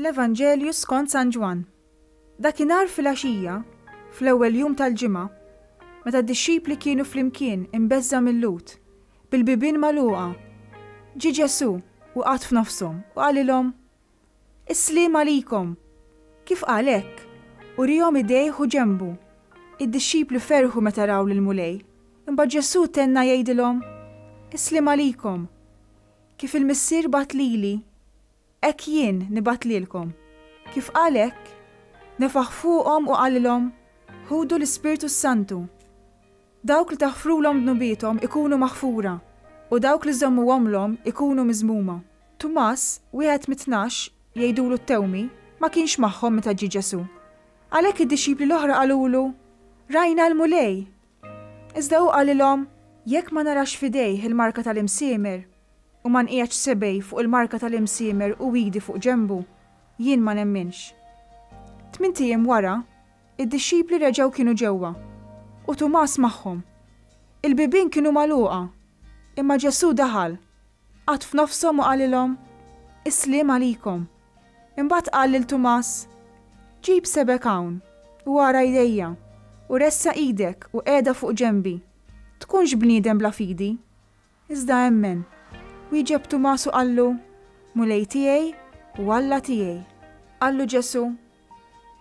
Mill-Evanġelju skont San Ġwann. Dakinhar filgħaxija, fl-ewwel jum tal-ġimgħa, meta d-dixxipli kienu flimkien imbeżża' mil-Lhud, bil-bibien magħluqa, ġie Ġesù u qagħad f'nofshom u qalilhom, Is-sliem għalikom! Kif qal hekk, uriehom idejh u ġenbu. Id-dixxipli ferħu meta raw lill-Mulej. Imbagħad Ġesù tenna jgħidilhom, Is-sliem għalikom! Kif il-Missier bagħat lili, hekk jien nibgħat lilkom. Kif qal hekk, nefaħ fuqhom u qalilhom, Ħudu l-Ispirtu s-Santu. Dawk li taħfrulhom dnubiethom ikunu maħfura, u dawk li żżommuhomlhom ikunu miżmuma. Tumas, wieħed mit-Tnax, jgħidulu t-Tewmi, ma kienx magħhom meta ġie Ġesù. Għalhekk id-dixxipli l-oħra qalulu, Rajna l-Mulej! Iżda hu qalilhom, Jekk ma narax f'idejh il-marka tal-imsiemer, u ma nqiegħedx sebgħi fuq il-marka tal-imsiemer u idi fuq ġenbu, jien ma nemminx. Tmint ijiem wara, Id-dixxipli reġgħu kienu ġewwa, u Tumas magħhom. Il-bibien kienu magħluqa, imma Ġesù daħal, qagħad f'nofshom u qalilhom, Is-sliem għalikom. Imbagħad qal lil Tumas, Ġib sebgħek hawn, u ara jdejja, u ressaq idek u qiegħda fuq ġenbi. Tkunx bniedem bla fidi, iżda emmen. Wieġeb Tumas u qallu, Mulej tiegħi u Alla tiegħi. Qallu Ġesù,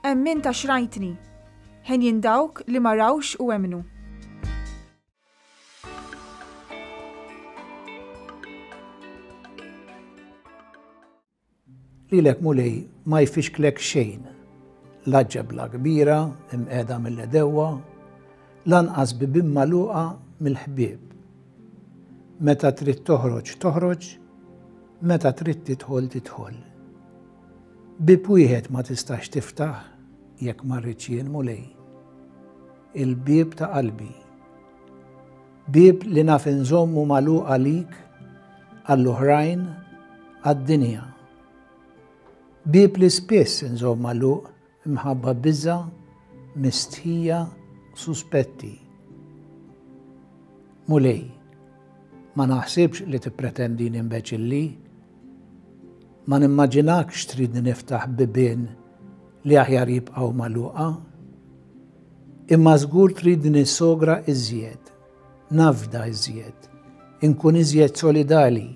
Emmint għax rajtni. Henjin dawk li ma rawx u emmnu. Lilek Mulej ma jfixklek xejn, la ġebla kbira imqiegħda mill-għedewwa, lanqas bibien magħluqa mill-ħbieb. Meta trid toħroġ toħroġ, meta trid tidħol tidħol. Bieb wieħed ma tistax tiftaħ jekk ma rridx jien Mulej. Il-bieb ta' qalbi. Bieb li naf inżommu magħluq għalik, għall-oħrajn, għad-dinja. Bieb li spiss inżomm magħluq imħabba biża', mistħija, suspetti. Mulej, ma naħsibx li tippretendini imbeċilli. Ma nimmaġinakx tridni niftaħ bibien li aħjar jibqgħu magħluqa. Imma żgur tridni nissogra iżjed, nafda iżjed, inkun iżjed solidali.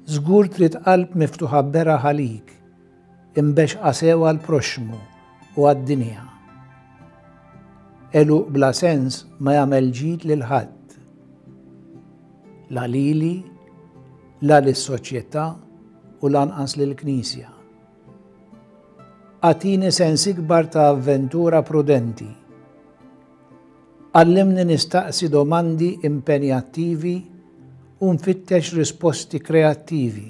Żgur trid qalb miftuħa beraħ għalik, imbexqa sew għall-proxxmu u għad-dinja. Għeluq bla sens ma jagħmel ġid lil ħadd. La lili, la lis-soċjetà u lanqas lill-Knisja. Agħtini sens ikbar ta' avventura prudenti. Għallimni nistaqsi domandi impenjattivi u nfittex risposti kreattivi.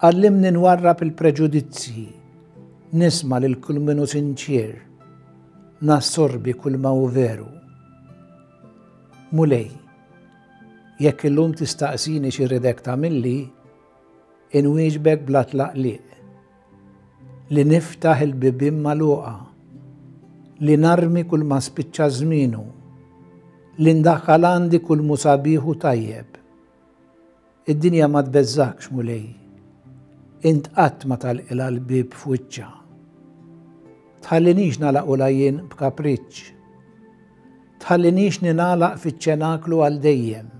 Għallimni nwarrab il-preġudizzji, nisma' lil kull min hu sinċier, nassorbi kull ma hu veru. Mulej, jekk illum tistaqsini x'irridek tagħmilli, inwieġbek bla tlaqliq. Li niftaħ il-bibien magħluqa, li narmi kull ma spiċċa żmienu, li ndaħħal għandi kull mhu sabiħ u tajjeb. Id-dinja ma tbeżżgħekx, Mulej. Int qatt ma tagħlqilha l-bieb f'wiċċha. Tħallinix nagħlaqulha jien b'kapriċċ. Tħallinix ningħalaq fiċ-ċenaklu għal dejjem.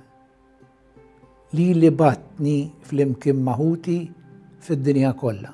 Lili bgħattni flimkien ma' ħuti fid-dinja kollha.